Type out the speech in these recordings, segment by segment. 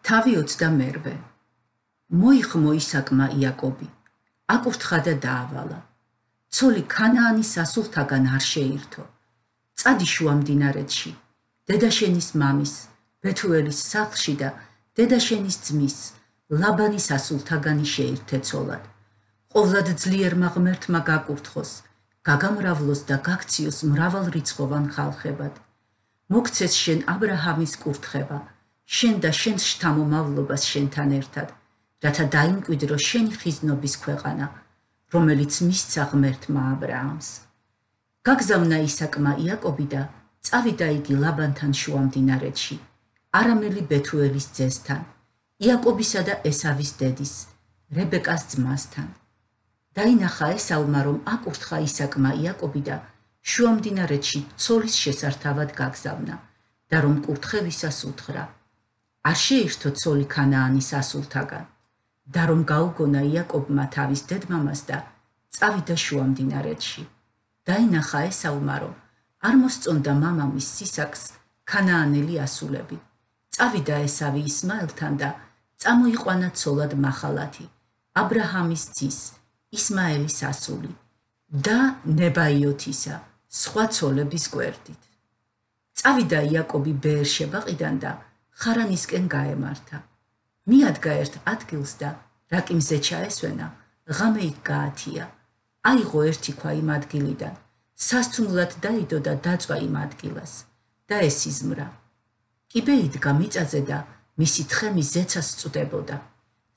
თავი 21. მოიხმო ისაკმა იაკობი, აკურთხა და დაავალა. ცოლი ქანაანის სასულთაგან არ შეირთო. წადი შუა მდინარეთში, დედაშენის მამის, ბეთუელის სახლში და დედაშენის ძმის, ლაბანის სასულთაგანი შეირთე ცოლად. ყოვლად ძლიერმა ღმერთმა გაკურთხოს, გაგამრავლოს და გაქციოს მრავალრიცხოვან ხალხებად. მოგცეს შენ აბრაჰამის კურთხება, შენ და შენს შთამომავლობას შენთან ერთად, რათა დაიმკვიდრო შენი ხიზნობის ქვეყანა, რომელიც მისცა ღმერთმა აბრაამს. გაგზავნა ისაკმა იაკობი და წავიდა იგი ლაბანთან შუა მდინარეთში, არამელი ბეთუელის ძესთან, იაკობისა და ესავის დედის, რებეკას ძმასთან. დაინახა ესავმა, რომ აკურთხა ისაკმა იაკობი და შუა მდინარეთში ცოლის შესართავად გაგზავნა და რომ კურთხევისას უთხრა. არ შეირთო ცოლი ქანაანის სასულთაგან და რომ გაუგონა იაკობმა თავის დედმამას და წავიდა შუა მდინარეთში. დაინახა ესავმა, რომ არ მოსწონდა მამამის ისაკს ქანაანელი ასულები. წავიდა ესავი ისმაელთან და წამოიყვანა ცოლად მახალათი, აბრაჰამის ძის, ისმაელის ასული და ნებაიოთისა, სხვა ცოლების გვერდით. წავიდა იაკობი ბეერ-შებაყიდან და ხარანისკენ გაემართა. მიადგა ერთ ადგილს და რაკიმზე ჩაესვენა, ღამე იქ გაათია. აიღო ერთი ქვა იმ ადგილიდან, სასთუმლად დაიდო და დაწვა იმ ადგილას და ესიზმრა. კიბე იდგა მიწაზე და მისი თხემი ზეცას წვდებოდა.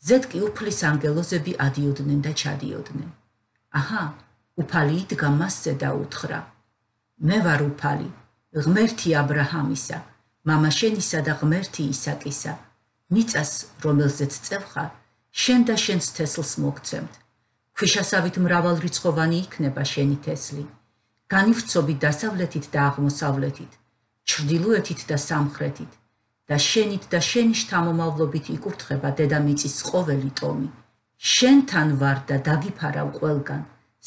ზედ კი უფლის ანგელოზები ადიოდნენ და ჩადიოდნენ. აჰა, უფალი იდგა მასზე და უთხრა. მე ვარ უფალი, ღმერთი აბრაჰამისა, მამაშენისა და ღმერთი ისაკისა. მიწას, რომელზეც წევხარ, შენ და შენს თესლს მოგცემთ. ქვიშასავით მრავალრიცხოვანი იქნება შენი თესლი. განივცობი დასავლეთით და აღმოსავლეთით, ჩრდილოეთით და სამხრეთით და შენით და შენი შთამომავლობით იკურთხება დედამიწის ყოველი ტომი. შენთან ვარ და დაგიფარავ ყველგან,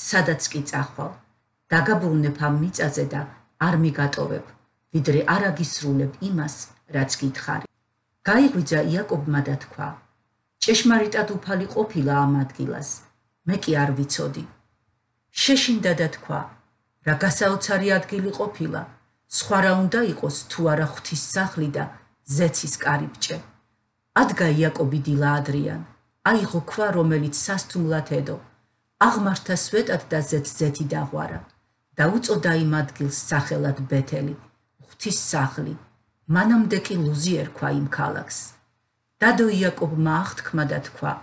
სადაც კი წახვალ. დაგაბრუნებ ამ მიწაზე და არ მიგატოვებ, ვიდრე არ აგისრულებ იმას, რაც გითხარი. გაიღვიძა იაკობმა და თქვა, ჭეშმარიტად უფალი ყოფილა ამ ადგილას, მე კი არ ვიცოდი. შეშინდა და თქვა, რა გასაოცარი ადგილი ყოფილა, სხვა რა უნდა იყოს თუ არა ღვთის სახლი და ზეცის კარიბჭე. ადგა იაკობი დილა ადრიან, აიღო ქვა, რომელიც სასთუმლად ედო, აღმართა სვეტად და ზეთი დაღვარა და უწოდა იმ ადგილს სახელად ბეთელი, ღვთის სახლი. მანამდე კი ლუზი ერქვა იმ ქალაქს. დადო იაკობმა აღთქმა და თქვა,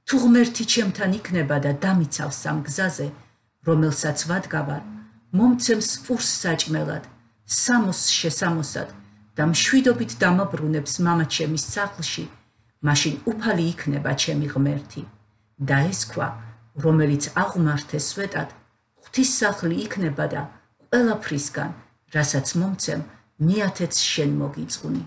თუ ღმერთი ჩემთან იქნება და დამიცავს ამ გზაზე, რომელსაც ვადგავარ, მომცემს პურს საჭმელად, სამოს შესამოსად და მშვიდობით დამაბრუნებს მამაჩემის სახლში, მაშინ უფალი იქნება ჩემი ღმერთი. და ეს ქვა, რომელიც აღმართეს სვეტად, ღვთის სახლი იქნება და ყველაფრისგან, რასაც მომცემ, მიათეც შენ მოგიწყვნი.